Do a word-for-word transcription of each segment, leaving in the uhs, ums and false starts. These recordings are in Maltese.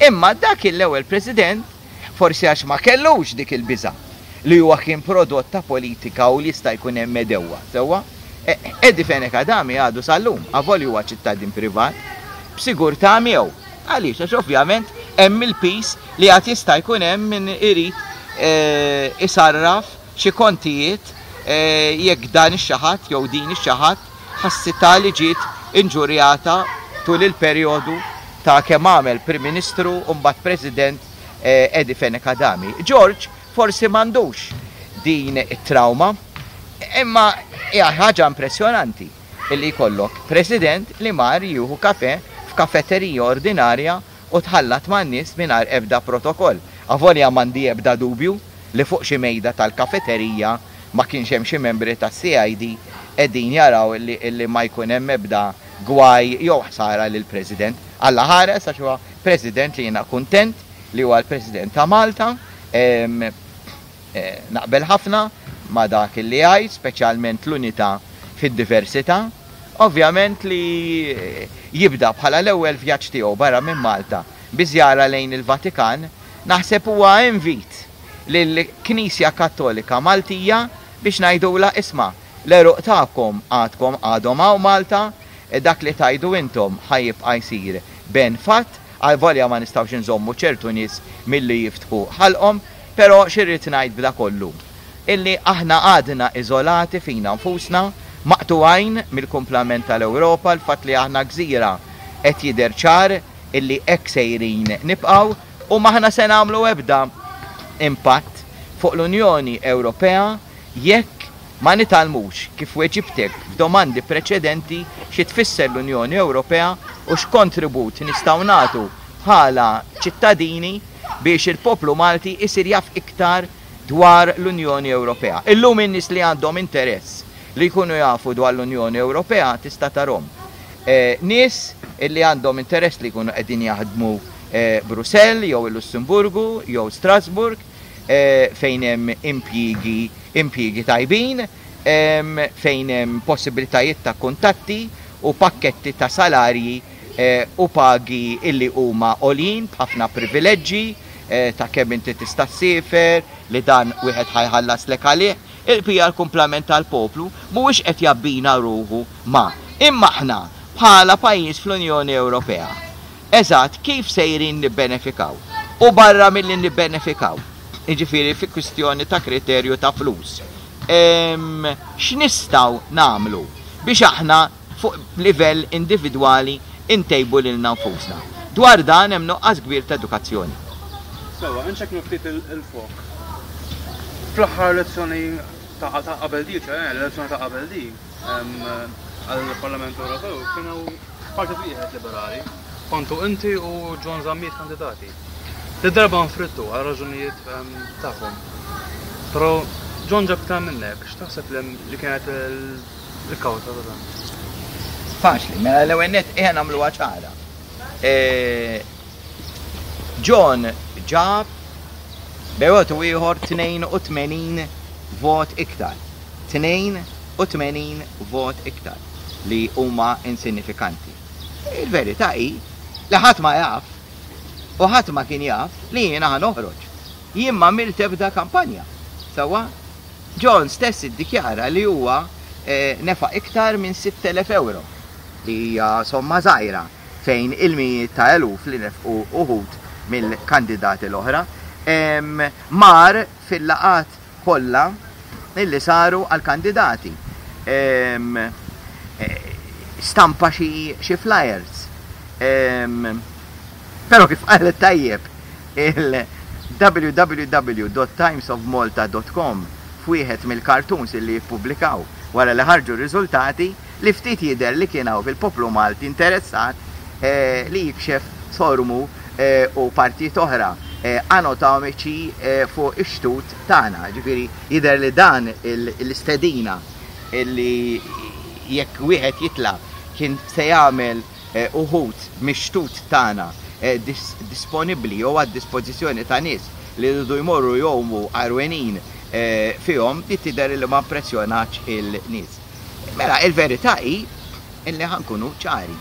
Imma dak l-ewwel President, forsi għax ma kellux dik il-biża' li huwa kien prodott ta' politika u li jista' jkun hemm medewwa. Sewwa? Eddie Fenech Adami għadu sal-lum, avolja huwa ċittadin privat, b'sigurtà miegħu. Għaliex? Għax ovvjament hemm il-pis li għad jista' jkun hemm min irid isarraf xi kontijiet jekk dan ix-xi ħadd jew din ix-xi ħadd ħassitha li ġiet inġurjata tul il-perjodu ta' kemm għamel Prim Ministru u mbagħad President Eddie Fenech Adami. George forsi m'għandux din it-trauma, imma hija ħaġa impressjonanti illi jkollok President li mar jieħu kafe f'kafeterija ordinarja u tħallat man-nies mingħajr ebda protokoll. Avolja m'għandi ebda dubju li fuq xi mejda tal-kafeterija ma kienx hemm xi membri tas-C I D qegħdin jaraw illi ma jkun hemm ebda gwaj jew ħsara lill-President. Alla ħares, għax huwa President li jiena kuntent li huwa l-President ta' Malta. Naqbel ħafna ma' dak li jgħid, speċjalment l-unità fid-diversità. Ovvjament li jibda bħala l-ewwel vjaġġ tiegħu barra minn Malta bi żjara lejn il-Vatikan, naħseb huwa invit lill-Knisja Kattolika Maltija biex ngħidula: "Isma', l-għeruq tagħkom għadkom għadhom hawn Malta, dak li tajdu intom ħa jibqa' jsir ben fatt, għalvolja ma nistgħux nżommu ċertu nies milli jiftħu ħalqhom." Però x'irrid ngħid b'da kollu? Illi aħna għadna iżolati fina nfusna, maqtugħin mill-kumplament tal-Ewropa. L-fatt li aħna gżira qed jidher ċar illi hekk sejrin nibqgħu u m'aħna se nagħmlu ebda impatt fuq l-Unjoni Ewropea jekk ma nitgħallmux, kif weġibtek f'domandi preċedenti, xi tfisser l-Unjoni Ewropea u x'kontribut nistgħu nagħtu bħala ċittadini biex il-poplu Malti isir jaf iktar dwar l-Unjoni Ewropea. Illum in-nies li għandhom interess li jkunu jafu dwar l-Unjoni Ewropea tista' tarahom. Eh, nies illi għandhom interess li jkunu qegħdin jaħdmu eh, Brussell jew il-Lussemburgu jew Strasburg, eh, fejn hemm impjiegi impjiegi tajbin, em, fejn hemm possibilitajiet ta' kuntatti u pakketti ta' salarji eh, u pagi illi huma għoljin b'ħafna privileġġi eh, ta' kemm inti tista' ssiefer, li dan wieħed ħa jħallaslek għalih. Il-pija l-kumplament tal-poplu mhuwiex qed jabbina ruħu ma. Imma aħna bħala pajjiż fl-Unjoni Ewropea, eżatt kif sejrin nibbenefikaw? U barra milli nibbenefikaw, jiġifieri fi kwistjoni ta' kriterju ta' flus, Em, x'nistgħu nagħmlu biex aħna fuq livell individwali intejbu lilna nfusna? Dwar dan hemm nuqqas kbir ta' edukazzjoni. Sewwa, inċekknu ftit il-fok. Fl-aħħar elezzjoni ta' ta' qabel di, ċe, l-elezzjoni ta' qabel di, em, għall-Parlament Ewropew, kienu partit wieħed liberali. Kontu inti u John Zammit kandidati. Di darba nfridtu għal raġunijiet em, tagħkom. Però John ġab iktar minnek, x'taħseb li li kienet il- il-kawża ta' dan? Faċli, mela l-ewwel nett ejja nagħmluha ċara. E, John ġab bejn u ieħor tnejn u tmenin vot iktar. tnejn u tmenin vot iktar li huma insignifikanti. Il-verità hi li ħadd ma jaf u ħadd ma kien jaf li jiena ħa noħroġ. Jien ma għamilt ebda kampanja. Sewwa, John stess iddikjara li huwa eh, nefaq iktar minn sitt elef euro, li hija somma żgħira fejn il-mijiet ta' eluf li nefqu uħud mill-kandidati l-oħra. Em, Mar fil-laqgħat kollha illi saru għal-kandidati. Em, eh, Stampa xi xi flyers. Em, Però kif qalet tajjeb il w w w dot timesofmalta dot com f'wieħed mill-cartoons illi jippubblikaw wara li ħarġu r-riżultati, li ftit jidher li kien hawn fil-poplu Malti interessat eh, li jikxef sormu eh, u partijiet oħra eh, anatomiċi eh, fuq ix-xtut tagħna. Ġifieri jidher li dan il- l-istedina illi jekk wieħed jitla' kien se jagħmel eh, uħud mix-xtut tagħna eh, dis disponibbli jew għad dispożizzjoni ta' nies li jridu jmorru jgħumu għarwenin eh, fihom, di tidher li ma impressjonax il-nies. Mela, il-verità hi illi ħa nkunu ċari.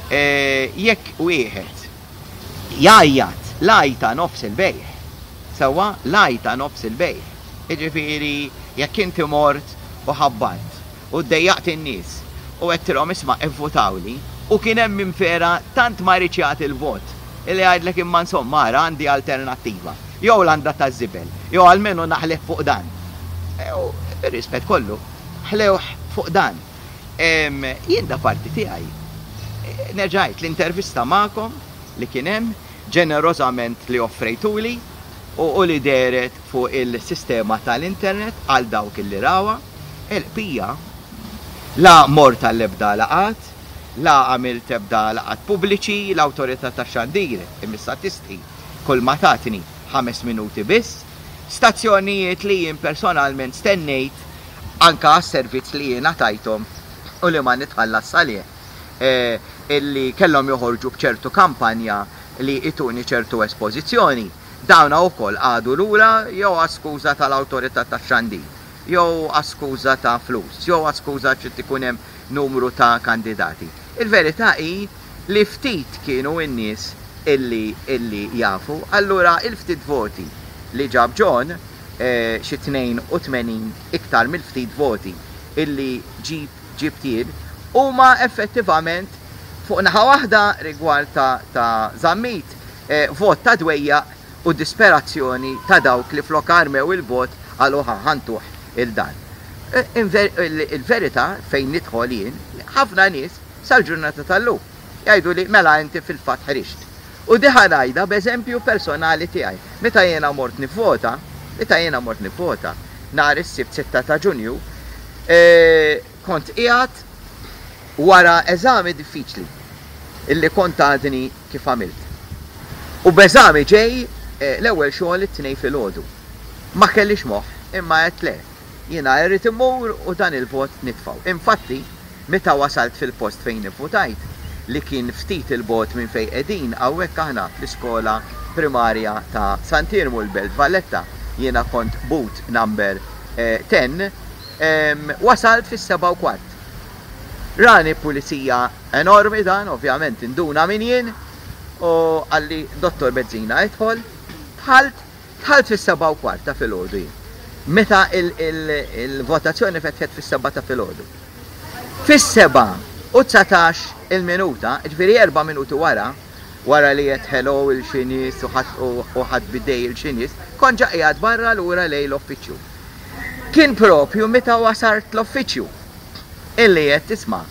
Eh, Jekk wieħed Jgħajjat, l-għajta nofs il-bejgħ. Sewwa, l-għajta nofs il-bejgħ. Jiġifieri jekk inti mort u ħabbatt u ddejjaqt in-nies u għedtilhom isma' ivvutawli u kien hemm min vera tant ma riedx jagħti l-vot illi jgħidlek imma insomma ara għandi alternattiva. Jew l-għanda taż-żibel, jew almenu naħlih fuq dan. U bir-rispett kollu, ħlewh fuq dan. Jien da parti tiegħi. Nerġa' ngħid l-intervista magħkom li kien hemm ġenerożament li offrejtuli u, u li dehret fuq il-sistema tal-internet għal dawk li rawha, il-bqija la mort għall-ebda laqgħat, la għamilt ebda laqgħat pubbliċi, l-awtorità tax-xandir imissa tistħi kull ma tatni ħames minuti biss, stazzjonijiet li jien personalment stennejt anka għas-servizz li jiena tajthom u li ma nitħallas għalih, eh, illi kellhom joħorġu b'ċertu kampanja li ituni ċertu espożizzjoni. Dawna wkoll għadu lura jew għas-skuża tal-awtorità tax-xandir, jew għas-skuża ta' flus, jew għas-skuża ċi ikun hemm numru ta' kandidati. Il-verità hi li ftit kienu n-nies illi illi jafu, allura il-ftit voti li ġab John, eh, xi tnejn u tmenin iktar mill-ftit voti illi ġib ġibt jien, huma effettivament fuq naħa waħda rigward ta', ta' Zammit, eh, vot ta' dwejjaq u disperazzjoni ta' dawk li flok armew il-vot għalu ħantuh il-dan. Eh, il-verità fejn nidħol jien, ħafna nies sal-ġurnata tal-lum jgħidu li mela inti fil-fatt ħriġt. U diħa ngħidha b'eżempju personali tiegħi. Meta jiena mort nivvota, meta jiena mort nivvota nhar is-Sibt sitta ta' Ġunju, eh, kont qiegħed wara eżami diffiċli illi kont għadni kif għamilt. U b'eżami ġej eh, l-ewwel xogħol it-Tnejn filgħodu. Ma kellix moħħ, imma għedt le. Jiena irrid immur u dan il-vot nitfgħu. Infatti, meta wasalt fil-post fejn nivvutajt, li kien ftit il-bot minn fejn qegħdin hawnhekk aħna fl-iskola primarja ta' Sant'Iermu l-Belt Valletta, jiena kont booth number eh, ten, em, wasalt fis-seba' u kwart. Rani pulizija enormi dan, ovvjament induna min jien, u qalli Dottor Bezzina idħol, dħalt, dħalt fis-seba' u kwart ta' filgħodu jien. Meta il-votazzjoni fetħet fis-seba' ta' filgħodu. Fis-seba' u dsatax il-minuta, ġifieri erba' minuti wara, wara li qed hello il xi nies u ħadd bidej il xi nies, kont ġa qiegħed barra lura lejn l-uffiċċju. Kien propju meta wasalt l-uffiċċju illi qed tisma'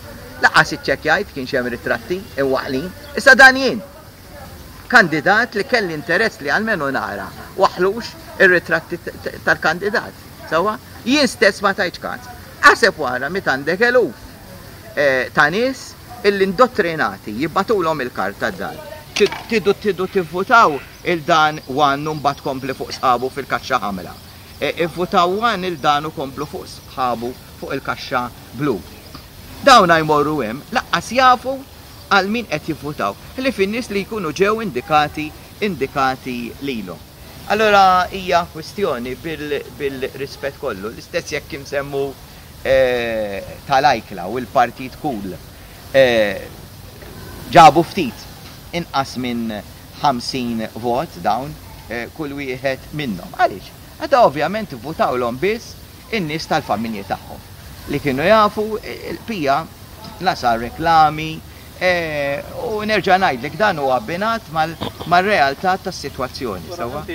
laqas iċċekkjajt kien hemm ritratti imwaħħlin, issa dan jien. Kandidat li kelli interess li almenu nara waħlux ir-ritratti tal-kandidat. Sewwa, jien stess ma tajtx każ. Aħseb wara meta għandek eluf eh, ta' nies illi indottrinati jibagħtulhom il-karta d-dar. Tidu tidu tivvutaw il-dan one u mbagħad kompli fuq sħabu fil-kaxxa ħamra. Ivvutaw one il-dan u komplu fuq sħabu fuq il-kaxxa blu. Dawna jmorru hemm laqqas jafu għal min qed jivvutaw, li fin-nies li jkunu ġew indikati indikati lilhom. Allora hija kwestjoni bil-rispett kollu, l-istess jekk insemmu eh, tal-Ajkla u l-Partit Cool eh, ġabu ftit inqas minn ħamsin vot dawn eh, kull wieħed minnhom. Għaliex? Għada ovvjament votawlhom biss in-nies tal-familji tagħhom li kienu jafu il-pija la sar reklami u nerġa' ngħidlek dan huwa abbinat mal-realtà tas-sitwazzjoni. Sewwa?